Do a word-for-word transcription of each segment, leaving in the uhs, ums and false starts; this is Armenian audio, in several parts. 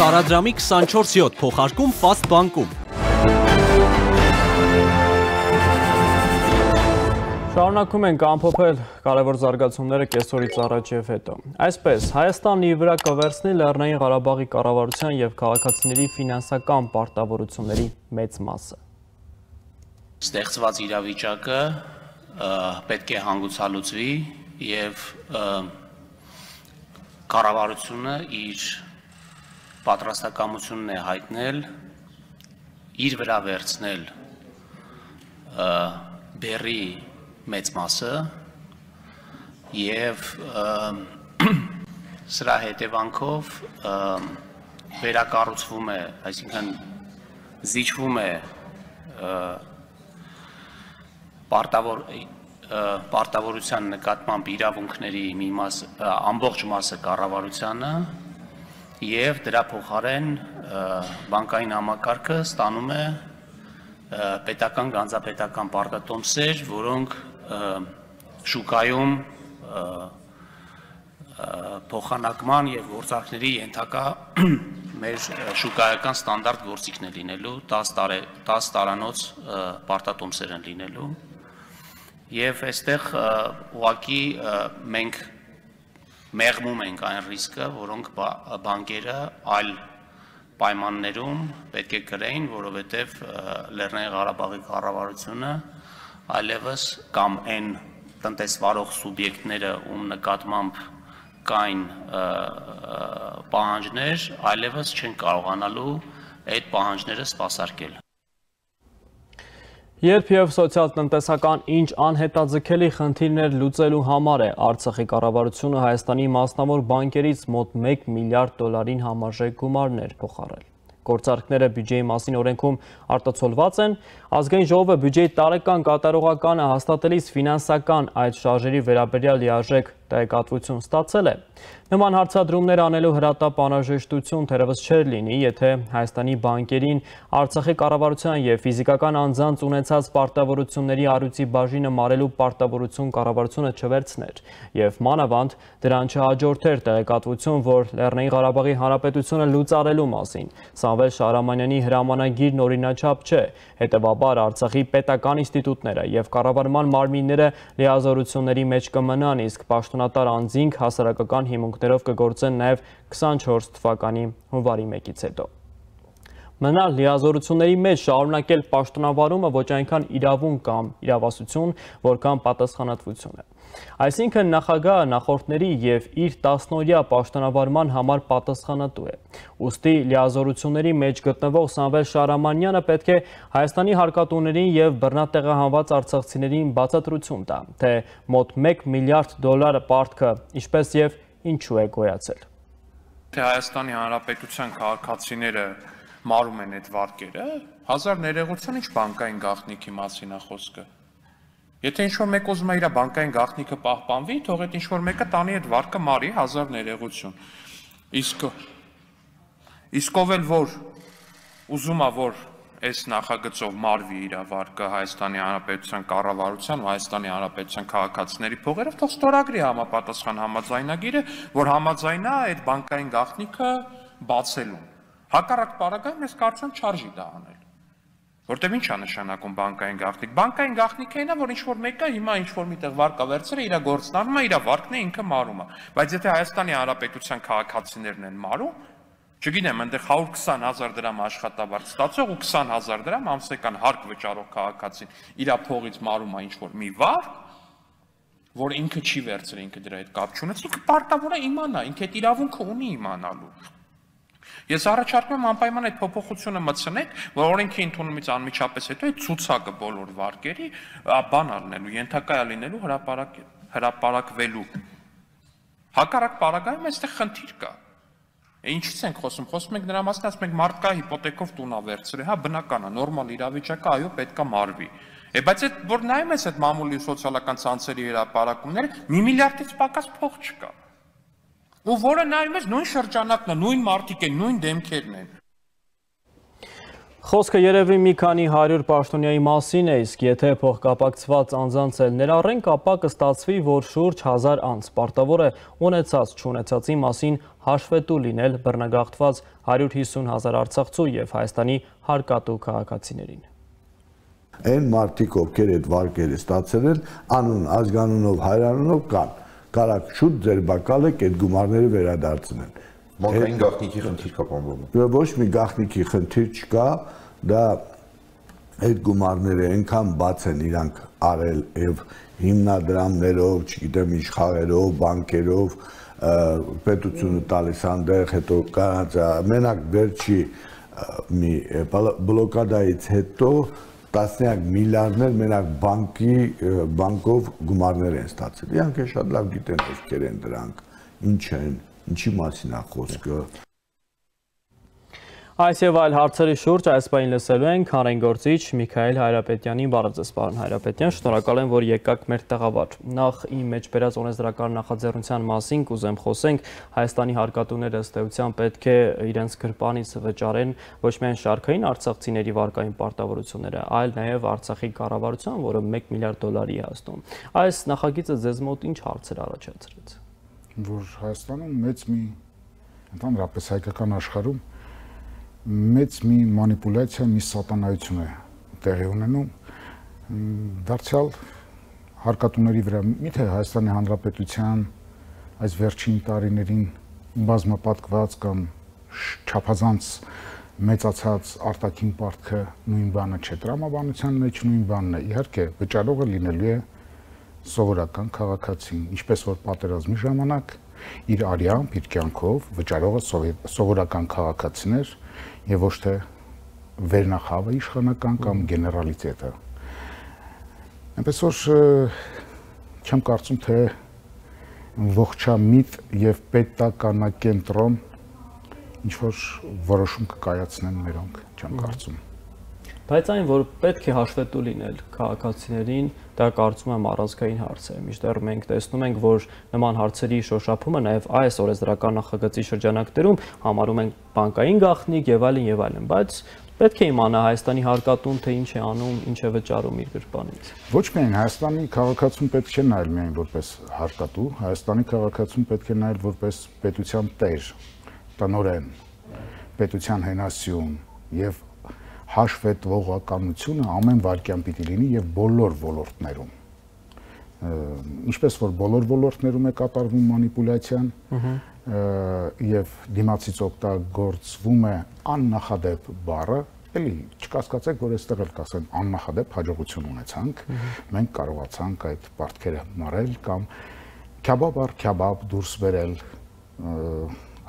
Տարադրամի քսանչորս յոթ փոխարկում Fast բանկում։ Շարունակում ենք ամփոփել կարևոր զարգացումները կեսօրից առաջ եւ հետո։ Այսպես, Հայաստանն իր վրա կվերցնի Լեռնային Ղարաբաղի կառավարության եւ քաղաքացիների ֆինանսական պարտավորությունների մեծ մասը։ Ստեղծված իրավիճակը պետք է հանգուցալուծվի եւ կառավարությունը իր պատրաստակամությունն է հայտնել իր վրա վերցնել բեռի մեծ մասը եւ սրա հետևանքով վերակառուցվում է, այսինքն զիջվում է պարտավոր պարտավորության նկատմամբ իրավունքների մի մաս ամբողջ մասը կառավարությանը եւ դրա փոխարեն բանկային համակարգը ստանում է պետական գանձապետական պարտատոմսեր, որոնք շուկայում փոխանակման եւ գործարքների ենթակա մեր շուկայական ստանդարտ գործիքն է լինելու, տասը տարանոց պարտատոմսեր են լինելու եւ այստեղ ուղղակի մենք մեղմում ենք այն ռիսկը, որոնք բանկերը այլ պայմաններում պետք է կրեին, որովհետեւ Լեռնային Ղարաբաղի կառավարությունը այլևս կամ այն տնտեսվարող սուբյեկտները, ում նկատմամբ կային պահանջներ, այլևս չեն կարողանալու այդ պահանջները սպասարկել։ Երբ եւ սոցիալ-տնտեսական ինչ անհետաձգելի խնդիրներ լուծելու համար է Արցախի կառավարությունը Հայաստանի մասնավոր բանկերից մոտ մեկ միլիարդ դոլարին համարժեք գումարներ փոխարել։ Գործարքները բյուջեի մասին օրենքում արտացոլված են, ազգային ժողովը բյուջեի տարեկան կատարողականը հաստատելիս ֆինանսական այդ շարժերի վերաբերյալ լիարժեք տեղեկատվություն ստացել է։ Նման հարցադրումներ անելու հրատապ անհրաժեշտություն թերևս չէր լինի, եթե Հայաստանի բանկերին Արցախի կառավարության եւ ֆիզիկական անձանց ունեցած պարտավորությունների առյուծի բաժինը մարելու պարտավորություն կառավարությունը չվերցներ եւ մանավանդ դրան չհաջորդեր տեղեկատվություն, որ Լեռնային Ղարաբաղի Հանրապետությունը լուծարելու մասին։ Սամվել Շահրամանյանի հրամանագիրն օրինաչափ չէ, հետևաբար Արցախի պետական ինստիտուտները եւ կառավարման մարմինները լիազորությունների մեջ կմնան, իսկ պաշտոնատար անձինք հասարակական հիմունքներով կգործեն նաեւ քսանչորս թվականի հունվարի մեկից հետո։ Մնալ լիազորությունների մեջ շարունակել պաշտոնավարումը ոչ այնքան իրավունք կամ իրավասություն, որքան պատասխանատվություն է։ Այսինքն նախագահը նախորդների եւ իր տասնօրյա պաշտոնավարման համար պատասխանատու է։ Ուստի լիազորությունների մեջ գտնվող Սամվել Շահրամանյանը պետք է Հայաստանի հարկատուներին եւ բռնատեղահանված արցախցիներին բացատրություն տա, թե մոտ մեկ միլիարդ դոլար պարտքը ինչպես եւ ինչու է գոյացել։ Թե Հայաստանի Հանրապետության քաղաքացիները մարում են այդ վարկերը, հազար ներողություն ինչ բանկային գաղտնիքի մասին է խոսքը։ Եթե ինչ-որ մեկ ուզում է իր բանկային գաղտնիքը պահպանվի, թող այդ ինչ-որ մեկը տանի այդ վարկը մարի, հազար ներողություն։ Իսկ իսկ ով էլ որ ուզում է, որ այս նախագծով մարվի իր վարկը Հայաստանի Հանրապետության կառավարության ու Հայաստանի Հանրապետության քաղաքացիների փողերով, թող ստորագրի համապատասխան համաձայնագիրը, որ համաձայնա այդ բանկային գաղտնիքը բացելուն։ Հակառակ պարագայում ես կարծում եմ չարժի դա անել։ Որտեւ ինչ է նշանակում բանկային գաղտնիք։ Բանկային գաղտնիքը այն է, որ ինչ-որ մեկը հիմա ինչ-որ միտեղ վարկա վերցրել է, իր գործն անում է, իր վարկն է ինքը մարում է։ Բայց եթե Հայաստանի Հանրապետության քաղաքացիներն են մարում, չգիտեմ, այնտեղ հարյուր քսան հազար դրամ աշխատավարձ ստացող ու քսան հազար դրամ ամսական հարկ վճարող քաղաքացին իր փողից մարում է ինչ-որ մի վարկ, որ ինքը չի վերցրել, ինքը դրա հետ կապ չունեցել, ինքը պարտավոր է իմանա, ինքը այդ իրավունքը ունի իմանալու։ Ես առաջարկում եմ անպայման այդ փոփոխությունը մտցնեք, որ օրենքի ընդունումից անմիջապես հետո այդ ցուցակը բոլոր վարկերի բան առնելու, ենթակա է լինելու հրապարակ հրապարակվելու։ Հակառակ պարագայում այստեղ խնդիր կա։ Ինչից ենք խոսում, խոսում ենք նրա մասին, ասում ենք մարդկա հիպոթեկով տուն ա վերցրել, հա բնական է, նորմալ իրավիճակը, այո, պետքա մարվի։ Է բայց այդ որ նայում ես այդ մամուլի սոցիալական ցանցերի հրապարակումները, մի միլիարդից պակաս փող չկա։ Ու որը նայում ես նույն շրջանակն է, նույն մարդիկ են, նույն դեմքերն են։ Խոսքը երևի մի քանի հարյուր պաշտոնյայի մասին է, իսկ եթե փոխկապակցված անձանց էլ ներառենք, ապա կստացվի, որ շուրջ հազար անձ պարտավոր է ունեցած չունեցածի մասին հաշվետու լինել բռնագաղթված հարյուր հիսուն հազար արցախցու եւ Հայաստանի հարկատու քաղաքացիներին։ Այն մարդիկ, ովքեր այդ վարկերը ստացել են, անուն, ազգանունով, հայրանունով կան, կարակ շուտ ձեր բակալեք այդ գումարները վերադարձնել։ Բանկային գաղտնիքի խնդիր կա բանվում։ Ոչ մի գաղտնիքի խնդիր չկա, դա այդ գումարները այնքան բաց են իրանք արել եւ հիմնադրամներով, չգիտեմ ինչ խաղերով, բանկերով, պետությունը տալիս անդեղ, հետո կանածա, մենակ վերջի մի բլոկադայից հետո տասնյակ միլիարդներ մենակ բանկի բանկով գումարներ են ստացել։ Իրանք շատ լավ գիտեն ովքեր են դրանք, ինչ են, ինչի մասին է խոսքը։ Այս եւ այլ հարցերի շուրջ այս պահին լսելու ենք հանրագործիչ Միքայել Հայրապետյանին։ Բարև ձեզ, պարոն Հայրապետյան, շնորհակալ եմ, որ եկաք մեր տաղավար։ Նախ իմ մեջ բերած օրենսդրական նախաձեռնության մասին կուզեմ խոսենք։ Հայաստանի հարկատուները ըստ էության պետք է իրենց գրպանից վճարեն ոչ միայն շարքային արցախցիների վարկային պարտավորությունները, այլ նաեւ Արցախի կառավարության, որը մեկ միլիարդ դոլարի է հասնում։ Այս նախագիծը ձեզ մոտ ինչ հարցեր առաջացրեց։ Որ Հայաստանում մեծ մի ընդհանրապես հայկական աշխարհում մեծ մի մանիպուլյացիա, մի սատանայություն է տեղի ունենում, դարձյալ հարկատուների վրա, միթե Հայաստանի Հանրապետության այս վերջին տարիներին բազմապատկված կամ չափազանց մեծացած արտաքին պարտքը նույն բանը չէ, տրամաբանության մեջ նույն բանն է, իհարկե վճարողը լինելու է սովորական քաղաքացին, ինչպես որ պատերազմի ժամանակ իր արյամբ, իր կյանքով վճարողը սովորական քաղաքացին էր եւ ոչ թե վերնախավը իշխանական կամ գեներալիտետը։ Այնպես որ չեմ կարծում, թե ողջամիտ եւ պետականակենտրոն ինչ որ որոշում կկայացնեն մերոնք, չեմ կարծում։ Բայց այն, որ պետք է հաշվետու լինել քաղաքացիներին, դա կարծում եմ առանցքային հարց է։ Միշտեռ մենք տեսնում ենք, որ նման հարցերի շոշափումը նաև այս օրենսդրական նախագծի շրջանակներում համարում են բանկային գաղտնիք եւ այլն եւ այլն, բայց պետք է իմանա Հայաստանի հարկատուն թե ինչ է անում, ինչ է վճարում իր գրպանից։ Ոչ միայն Հայաստանի քաղաքացուն պետք չէ նայել միայն որպես հարկատու, Հայաստանի քաղաքացուն պետք է նայել որպես պետության տեր, տնօրեն, պետության հենասյուն եւ հաշվետվողականությունը ամեն վայրկյան պիտի լինի եւ բոլոր ոլորտներում։ Ինչպես որ բոլոր ոլորտներում է կատարվում մանիպուլյացիան եւ դիմացից օգտագործվում է աննախադեպ բառը, էլի չկասկածեք, որ այստեղ էլ կասեն աննախադեպ հաջողություն ունեցանք, մենք կարողացանք այդ պարտքերը մարել կամ քյաբաբ առ քյաբաբ դուրս բերել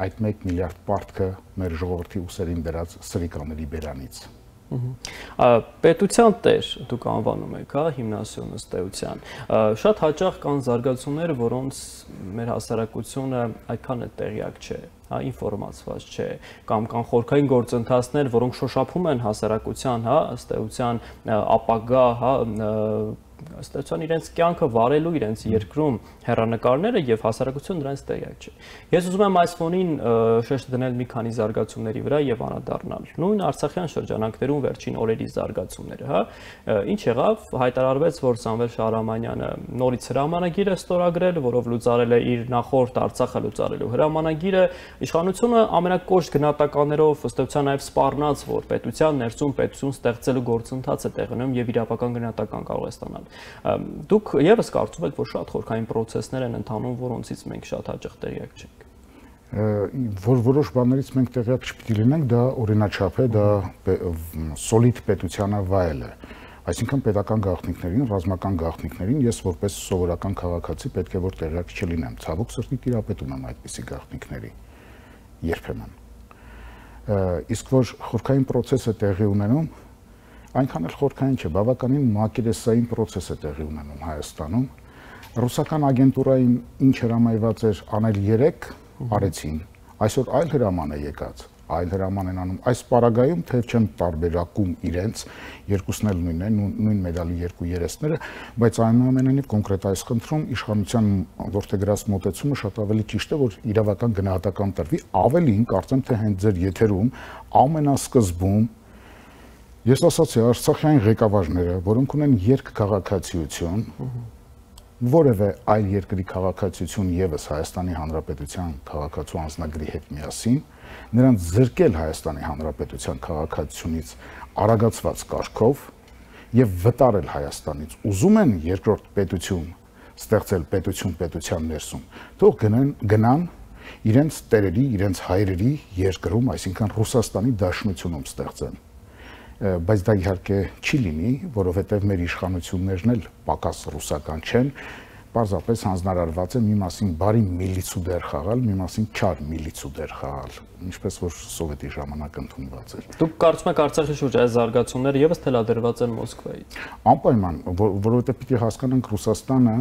այդ մեկ միլիարդ պարտքը մեր ժողովրդի ուսերին դրած սրիկաների բերանից։ Պետության տեր դուք անվանում եք, հա, հիմնասյուն ըստ էության։ Շատ հաճախ կան զարգացումներ, որոնց մեր հասարակությունը այդքան է տեղյակ չէ, հա, ինֆորմացված չէ, կամ կան խորքային գործընթացներ, որոնք շոշափում են հասարակության, հա, ըստ էության ապագա, հա, ըստ էության իրենց կյանքը վարելու իրենց երկրում հեռանկարները եւ հասարակությունը դրանից տեղյակ չէ։ Ես ուզում եմ այս ֆոնին շեշտ դնել մի քանի զարգացումների վրա եւ անդրադառնալ։ Նույն Արցախյան շրջանակներում վերջին օրերի զարգացումները, հա, ինչ եղավ, հայտարարվեց, որ Սամվել Շահրամանյանը նորից հրամանագիր է ստորագրել, որով լուծարել է իր նախորդ Արցախը լուծարելու հրամանագիրը, իշխանությունը ամենակոշտ գնահատականներով ըստ էության նաեւ սպառնաց, որ պետության ներսում պետություն ստեղծելու գործընթաց է տեղի ունենում եւ իրավական գնահատական կարող է ստանալ։ Դուք եւս կարծում եք, որ շատ խորքային process-ներ են ընթանում, որոնցից մենք շատ հաճախ տեղյակ չենք։ Որ որոշ բաներից մենք տեղյակ չպիտի լինենք, դա օրինաչափ է, դա սոլիդ պետությանը վայել է։ Այսինքն պետական գաղտնիքներին, ռազմական գաղտնիքներին ես որպես սովորական քաղաքացի պետք է որ տեղյակ չլինեմ։ Ցավոք սրտի տիրապետում եմ այդպիսի գաղտնիքների երբեմն։ Իսկ որ խորքային process-ը տեղի ունենում, այնքան էլ խորքային չէ, բավականին մակերեսային process է տեղի ունենում Հայաստանում։ Ռուսական ագենտուրային ինչ հրամայված էր անել երեք, արեցին։ Այսօր այլ հրաման է եկած, այլ հրաման են անում։ Այս պարագայում թեև չեմ տարբերակում իրենց, երկուսն էլ նույնն են, նույն մեդալի երկու երեսները, բայց այնուամենայնիվ կոնկրետ այս խնդրում իշխանության որդեգրած մոտեցումը շատ ավելի ճիշտ է, որ իրավական գնահատական տրվի, ավելին կարծեմ թե հենց ձեր եթերում ամենասկզբում Ես ասացի արցախյան ղեկավարները, որոնք ունեն երկքաղաքացիություն, որևէ այլ երկրի քաղաքացիություն եւս Հայաստանի Հանրապետության քաղաքացու անձնագրի հետ միասին, նրանց զրկել Հայաստանի Հանրապետության քաղաքացիությունից արագացված կարգով եւ վտարել Հայաստանից։ Ուզում են երկրորդ պետություն ստեղծել պետություն պետության ներսում, թող գնան գնան իրենց տերերի, իրենց հայրերի երկրում, այսինքն Ռուսաստանի Դաշնությունում ստեղծեն։ Բայց դա իհարկե չի լինի, որովհետև մեր իշխանություններն էլ պակաս ռուսական չեն, պարզապես հանձնարարված է մի մասին բարի միլիցու դեր խաղալ, մի մասին չար միլիցու դեր խաղալ, ինչպես որ սովետի ժամանակ ընդունված էր։ Դուք կարծում եք Արցախի շուրջ այս զարգացումները եւս թելադրված են Մոսկվայից։ Անպայման, որովհետև պիտի հասկանանք Ռուսաստանը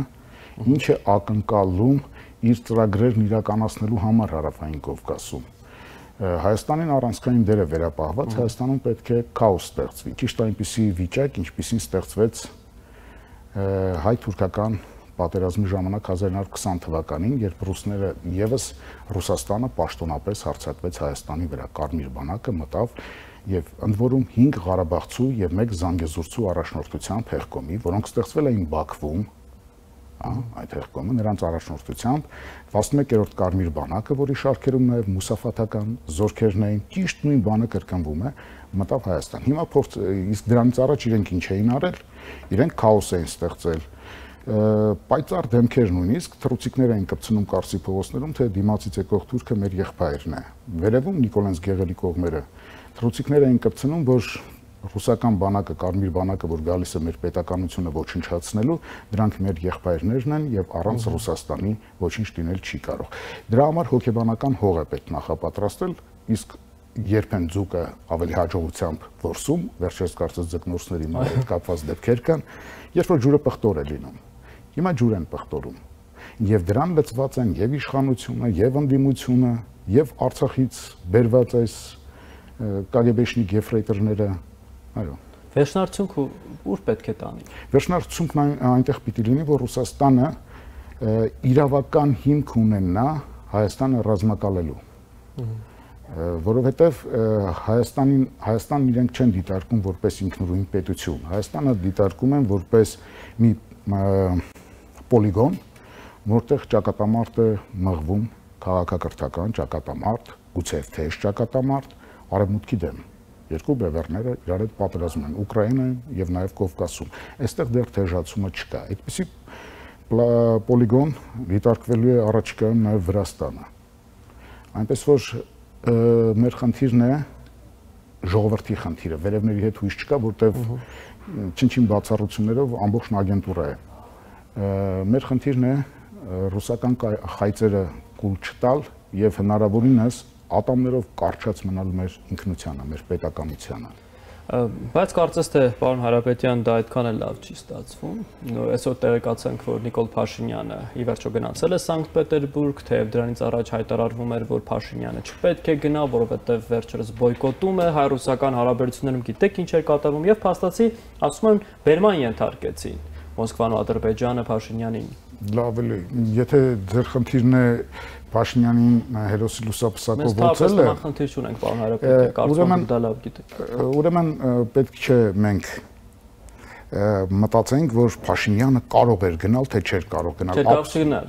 ինչ է ակնկալում իր ծրագրերն իրականացնելու համար Հարավային Կովկասում։ Հայաստանին առանցքային դեր է վերապահված, Հայաստանում պետք է քաոս ստեղծվի։ Ճիշտ այնպիսի վիճակ, ինչպիսին ստեղծվեց հայ-թուրքական պատերազմի ժամանակ հազար ինը հարյուր քսան թվականին, երբ ռուսները եւս Ռուսաստանը պաշտոնապես հարձակվեց Հայաստանի վրա, Կարմիր բանակը մտավ եւ ընդ որում հինգ Ղարաբաղցու եւ մեկ Զանգեզուրցու առաջնորդությամբ հեղկոմի, որոնք ստեղծվել էին Բաքվում, այդ հեղկոմը նրանց առաջնորդությամբ տասնմեկերորդ Կարմիր բանակը, որի շարքերում նաեւ մուսաֆաթական զորքերն էին, ճիշտ նույն բանը կրկնվում է, մտավ Հայաստան։ Հիմա փորձ իսկ դրանից առաջ իրենք ինչ էին արել, իրենք քաոս էին ստեղծել, պայծառ դեմքեր նույնիսկ թռուցիկներ էին կպցնում Կարսի փողոցներում, թե դիմացից եկող թուրքը մեր եղբայրն է։ Վերևում Նիկոլենց Գեղելի կողմերը թռուցիկներ էին կպցնում, որ ռուսական բանակը, Կարմիր բանակը, որ գալիս է մեր պետականությունը ոչնչացնելու, դրանք մեր եղբայրներն են եւ առանց Ռուսաստանի ոչինչ լինել չի կարող։ Դրա համար հոգեբանական հող է պետք նախապատրաստել, իսկ երբ են ձուկը ավելի հաջողությամբ որսում, վերջերս կարծես ձկնորսների հետ կապված դեպքեր կան, երբ որ ջուրը պղտոր է լինում։ Հիմա ջուր են պղտորում։ Եվ դրան լծված են եւ իշխանությունը, եւ ընդդիմությունը, եւ Արցախից բերված այս կագեբեշնիկ եֆրեյտորները, այո։ Վերջնարդյունքը ուր պետք է տանի։ Վերջնարդյունքն այնտեղ պիտի լինի, որ Ռուսաստանը իրավական հիմք ունենա Հայաստանը ռազմակալելու։ Որովհետև Հայաստանին Հայաստանն իրենք չեն դիտարկում որպես ինքնուրույն պետություն։ Հայաստանը դիտարկում են որպես մի պոլիգոն, որտեղ ճակատամարտ է մղվում, քաղաքակրթական ճակատամարտ, գուցե թեժ ճակատամարտ, արևմուտքի դեմ։ Երկու բևեռները իրար հետ պատերազմ են Ուկրաինայում եւ նաեւ Կովկասում։ Այստեղ դեռ թեժացումը չկա։ Այդպիսի պոլիգոն դիտարկվելու է առաջիկայում նաեւ Վրաստանը։ Այնպես որ մեր խնդիրն է ժողովրդի խնդիրը, վերևների հետ հույս չկա, որտեղ չնչին բացառություններով ամբողջ ագենտուրա է։ Մեր խնդիրն է ռուսական խայծերը կուլ չտալ եւ հնարավորինս ատամներով կարճած մնալ մեր ինքնությանը, մեր պետականությանը։ Բայց կարծես թե պարոն Հարապետյան դա այդքան էլ լավ չի ստացվում։ Այսօր տեղեկացանք, որ Նիկոլ Փաշինյանը ի վերջո գնացել է Սանկտ Պետերբուրգ, թեև դրանից առաջ հայտարարվում էր, որ Փաշինյանը չպետք է գնա, որովհետև վերջերս բոյկոտում է հայ-ռուսական հարաբերություններում, գիտեք ինչ էր կատարվում, եւ փաստացի ասում են բերման ենթարկեցին Մոսկվան ու Ադրբեջանը Փաշինյանին։ Լավ է, եթե ձեր խնդիրն է Փաշինյանին հերոսի լուսապսակով ոցել է։ Մենք խնդիր չունենք, պարոն Հարապետյան, կարծում եմ դա լավ գիտեք։ Ուրեմն պետք չէ մենք մտածենք, որ Փաշինյանը կարող էր գնալ, թե չէր կարող գնալ։ Չէր կարող չգնալ։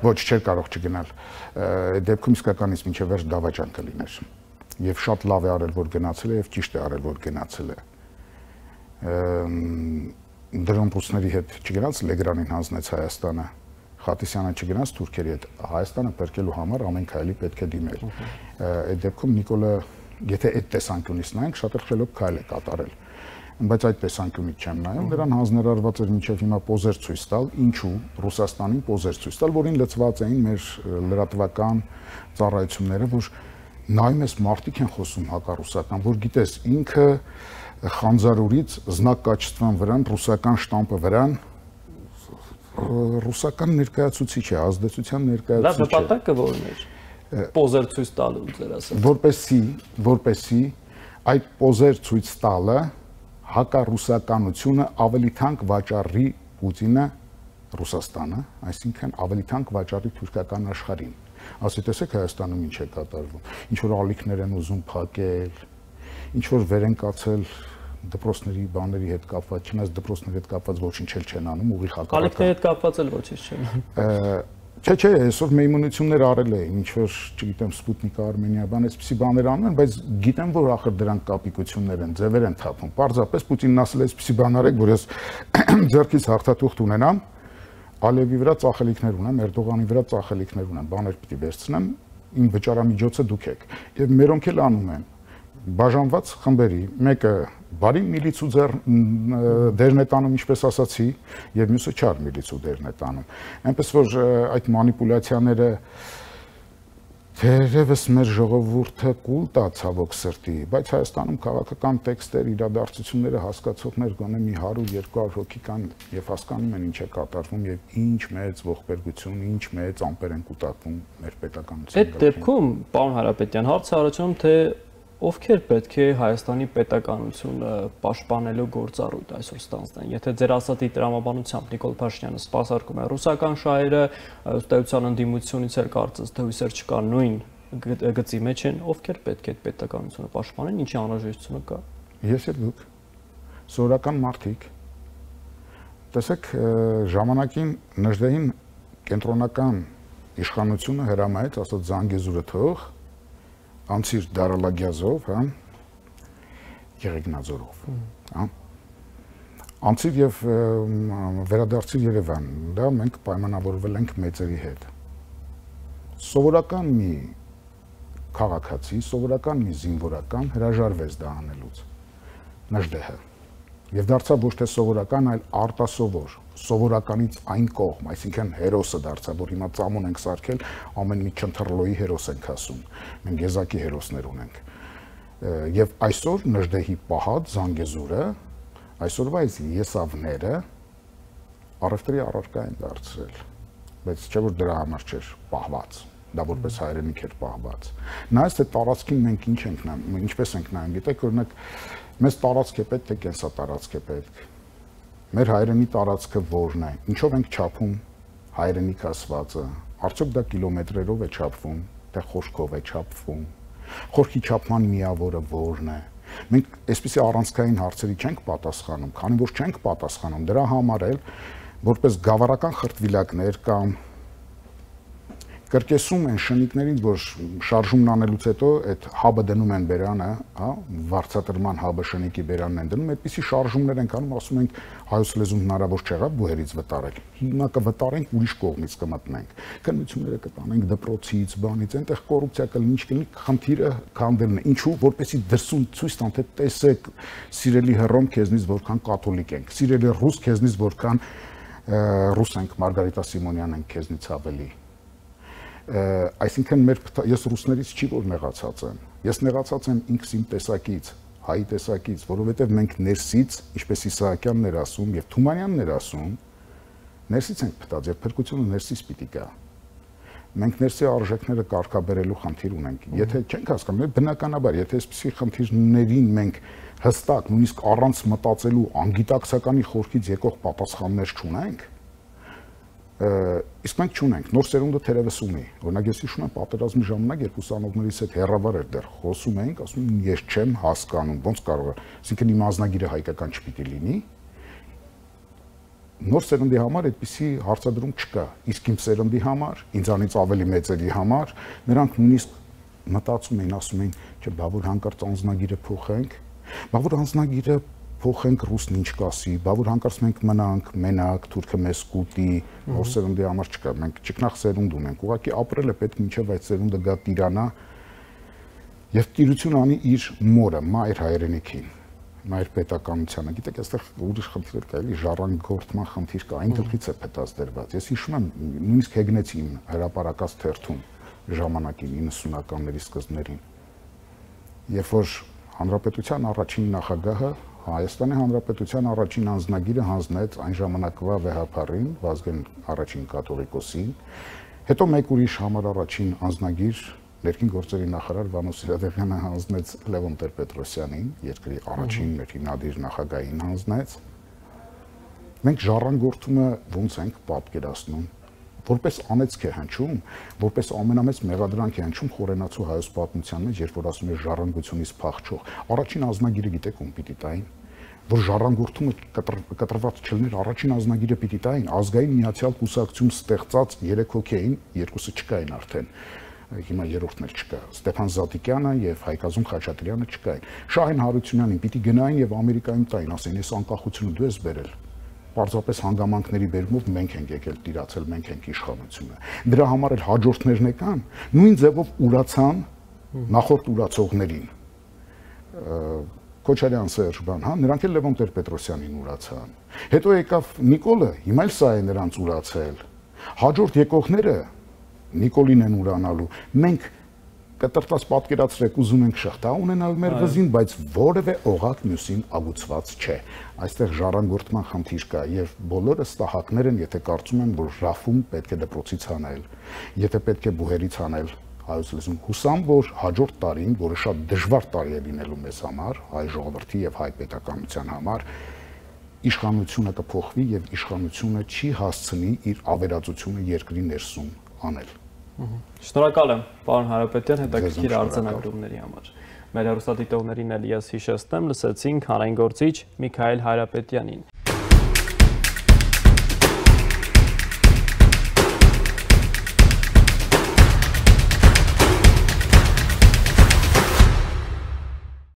Ոչ, չէր կարող չգնալ։ Դեպքում իսկականից մինչև վերջ դավաճան կլիներ։ Եվ շատ լավ է արել, որ գնացել է, եւ ճիշտ է արել, որ գնացել է։ Դրամբուսների հետ չգնաց, Լեգրանին հանձնեց Հայաստանը, Խատիսյանը չգնաց Թուրքերի հետ, Հայաստանը պերկելու համար ամեն քայլի պետք է դիմել։ Այդ դեպքում Նիկոլը, եթե այդ տեսանկյունից նայենք, շատ էլ խելոք քայլ է կատարել։ Բայց այդ տեսանկյունից չեմ նայում, դրան հանձնարարված էր մինչև հիմա պոզեր ցույց տալ, ինչու Ռուսաստանին պոզեր ցույց տալ, որին լծված էին մեր լրատվական ծառայությունները, որ նայում ես մարդիկ են խոսում հակառուսական, որ գիտես ինքը Խանձարուրից զնակ կաչտվան վրան, ռուսական շտամպը վրան, ռուսական ներկայացուցիչ է, ազդեցության ներկայացուցիչ է։ Լավ նպատակը ո՞րն էր։ Պոզեր ցույց տալու ձեր ասած։ Որպեսի, որպեսի այդ պոզեր ցույց տալը հակառուսականությունը ավելի թանկ վաճառի Պուտինը Ռուսաստանը, այսինքն ավելի թանկ վաճառի թուրքական աշխարհին։ Ասի տեսեք Հայաստանում ինչ է կատարվում։ Ինչ որ ալիքներ են ուզում փակել, ինչ որ վեր են կացել դպրոցների բաների հետ կապված, չնայած դպրոցների հետ կապված ոչինչ էլ չեն անում, ուղիղ հակառակը։ Կալիքների հետ կապված էլ ոչինչ չեն անում։ Չէ, չէ, այսօր մեյմունություններ արել էին, ինչ որ, չգիտեմ, Սպուտնիկ Արմենիա, բան այսպիսի բաներ անում են, բայց գիտեմ, որ ախր դրանք կապիկություններ են, ձևեր են թափում։ Պարզապես Պուտինն ասել է այսպիսի բան արեք, որ ես ձեռքից հաղթաթուղթ ունենամ, Ալիևի վրա ծախելիքներ ունեմ, Էրդողանի վրա ծախելիքներ ունեմ, բաներ պիտի վերցնեմ, իմ վճարամիջոցը դուք եք։ Եվ մերոնք էլ անում են բաժանված խմբերի, մեկը բարի միլիցու դերն է տանում, ինչպես ասացի, եւ մյուսը չար միլիցու դերն է տանում։ Այնպես որ այդ մանիպուլյացիաները թերևս մեր ժողովուրդը կուլ տա ցավոք սրտի, բայց Հայաստանում քաղաքական տեքստեր, իրադարձությունները հասկացողներ գոնե մի հարյուր երկու հարյուր հոգի կան եւ հասկանում են ինչ է կատարվում եւ ինչ մեծ ողբերգություն, ինչ մեծ ամպեր են կուտակվում մեր պետականության։ Այդ դեպքում, պարոն Հարապետյան, հարցը առաջանում թե ովքեր պետք է Հայաստանի պետականությունը պաշտպանելու գործառույթ այսօր ստանձնեն։ Եթե ձեր ասածի տրամաբանությամբ Նիկոլ Փաշինյանը սպասարկում է ռուսական շահերը, ըստեյության ընդդիմությունից էլ կարծես թե հույսեր չկան նույն գծի մեջ են, ովքեր պետք է այդ պետականությունը պաշտպանեն, ինչի անհրաժեշտությունը կա։ Ես էլ դուք սովորական մարդիկ։ Տեսեք, ժամանակին Նժդեհին կենտրոնական իշխանությունը հրամայեց, ասած Զանգեզուրը թող անցիր Դարալագյազով, հա, Եղեգնաձորով, հա, անցիր եւ վերադարձիր Երևան, դա մենք պայմանավորվել ենք մեծերի հետ։ Սովորական մի քաղաքացի, սովորական մի զինվորական հրաժարվեց դա անելուց, Նժդեհը, եւ դարձավ ոչ թե սովորական, այլ արտասովոր, սովորականից այն կողմ, այսինքն հերոսը դարձավ, որ հիմա ծամոն ենք սարքել, ամեն մի չընթրլոյի հերոս ենք ասում, մենք եզակի հերոսներ ունենք։ Եվ այսօր Նժդեհի պահած Զանգեզուրը, այսօրվա այս եսավները առևտրի առարկա են դարձրել, բայց չէ որ դրա համար չէր պահված, դա որպես հայրենիք էր պահված։ Նայած թե տարածքին մենք ինչ ենք նայում, ինչպես ենք նայում, գիտեք, օրինակ մեզ տարածք է պետք, թե կենսա տարածք է պետք։ Մեր հայրենի տարածքը որն է, ինչով ենք չափում հայրենիք ասվածը, արդյոք դա կիլոմետրերով է չափվում, թե խորքով է չափվում, խորքի չափման միավորը որն է։ Մենք այսպիսի առանցքային հարցերի չենք պատասխանում, քանի որ չենք պատասխանում, դրա համար էլ որպես գավառական խրտվիլակներ կամ կրկեսում են շնիկներին, որ շարժումն անելուց հետո այդ հաբը դնում են բերանը, հա, վարձատրման հաբը շնիկի բերանն են դնում, այդպիսի շարժումներ ենք անում, ասում ենք հայոց լեզուն հնարավոր չեղավ բուհերից վտարել։ Հիմա կվտարենք, ուրիշ կողմից կմտնենք։ Քննությունները կտանենք դպրոցից, բանից, այնտեղ կոռուպցիա կլինի, ինչ կլինի, խնդիրը քանդելն է։ Ինչու, որպեսզի դրսում ցույց տան, թե տեսեք, սիրելի հռոմ քեզնից որքան կաթոլիկ ենք, սիրելի ռուս քեզնից որքան ռուս ենք, Մարգարիտա Սիմոնյան ենք քեզնից ավելի։ Այսինքն մեր ես ռուսներից չի որ նեղացած եմ։ Ես նեղացած եմ ինքս իմ տեսակից, հայի տեսակից, որովհետև մենք ներսից, ինչպես Իսահակյանն էր ասում եւ Թումանյանն էր ասում, ներսից ենք փտած եւ փրկությունը ներսից պիտի գա։ Մենք ներսի արժեքները կարգաբերելու խնդիր ունենք։ Եթե չենք հասկանում, բնականաբար, եթե այսպիսի խնդիրներին մենք հստակ, նույնիսկ առանց մտածելու անգիտակցականի խորքից եկող պատասխաններ չունենք, իսկ մենք չունենք, նոր սերունդը թերևս ունի։ Օրինակ ես հիշում եմ պատերազմի ժամանակ երկու ուսանողներից հետ հեռավար էր դեռ խոսում էինք, ասում եմ ես չեմ հասկանում, ոնց կարող է, այսինքն իմ ազնագիրը հայկական չպիտի լինի։ Նոր սերունդի համար այդպիսի հարցադրում չկա, իսկ իմ սերունդի համար, ինձանից ավելի մեծերի համար, նրանք նույնիսկ մտածում էին, ասում էին, չէ, բա որ հանկարծ անձնագիրը փոխենք, բա որ անձնագիրը փոխենք ռուսն ինչ կասի, բա որ հանկարծ մենք մնանք մենակ, թուրքը մեզ կուտի, նոր սերունդի համար չկա, մենք ճկնաղ սերունդ ունենք, ուղղակի ապրել է պետք մինչև այդ սերունդը գա տիրանա եւ տիրություն անի իր մորը, մայր հայրենիքին, մայր պետականությանը։ Գիտեք, այստեղ ուրիշ խնդիր կա, էլի ժառանգորդման խնդիր կա, այն գլխից է պետած դրված։ Ես հիշում եմ, նույնիսկ հեգնեցի իմ հրապարակած թերթում ժամանակին իննսունականների սկզբներին, երբ որ հանրապետության առաջին նախագահը Հայաստանի Հանրապետության առաջին անձնագիրը հանձնեց այն ժամանակվա վեհապարին, Վազգեն առաջին կաթողիկոսին, հետո մեկ ուրիշ համար առաջին անձնագիր ներքին գործերի նախարար Վանո Սիրադեղյանը հանձնեց Լևոն Տեր-Պետրոսյանին, երկրի առաջին հիմնադիր նախագահին հանձնեց։ Մենք ժառանգորդումը ոնց ենք պատկերացնում, որպես անեծք է հնչում, որպես ամենամեծ մեղադրանք է հնչում խորենացու հայոց պատմության մեջ, երբ որ ասում է ժառանգությունից փախչող։ Առաջին անձնագիրը գիտեք ում պիտի տային։ որ ժառանգորդումը կտրված չլներ, առաջին ազնագիրը պիտի տային, ազգային միացյալ կուսակցություն ստեղծած երեք հոգի էին, երկուսը չկային արդեն, հիմա երրորդն էլ չկա, Ստեփան Զատիկյանը եւ Հայկազուն Խաչատրյանը չկային, Շահեն Հարությունյանին պիտի գնային եւ Ամերիկայում տային, ասեն, ես անկախությունը դու ես բերել, պարզապես հանգամանքների բերումով մենք ենք եկել տիրացել, մենք ենք իշխանությունը, դրա համար էլ հաջորդներն եկան, նույն ձևով ուրացան նախորդ ուրացողներին, Քոչարյան Սերժ բան, հա, նրանք էլ Լևոն Տեր-Պետրոսյանին ուրացան։ Հետո եկավ Նիկոլը, հիմա էլ սա է նրանց ուրացել։ Հաջորդ եկողները Նիկոլին են ուրանալու։ Մենք կտրտած պատկերացրեք ուզում ենք շղթա ունենալ մեր վզին, բայց որևէ օղակ մյուսին ագուցված չէ։ Այստեղ ժառանգորդման խնդիր կա եւ բոլորը ստահակներ են, եթե կարծում են, որ ռաֆում պետք է դպրոցից հանել, եթե պետք է բուհերից հանել։ Հայոց լեզուն հուսամ, որ հաջորդ տարին, որը շատ դժվար տարի է լինելու մեզ համար, հայ ժողովրդի եւ հայ պետականության համար, իշխանությունը կփոխվի եւ իշխանությունը չի հասցնի իր ավերածությունը երկրի ներսում անել։ Շնորհակալ եմ, պարոն Հարապետյան, հետաքրքիր արձանագրումների համար։ Մեր հեռուստադիտողներին էլ ես հիշեցնեմ, լսեցինք հանրային գործիչ Միքայել Հայրապետյանին։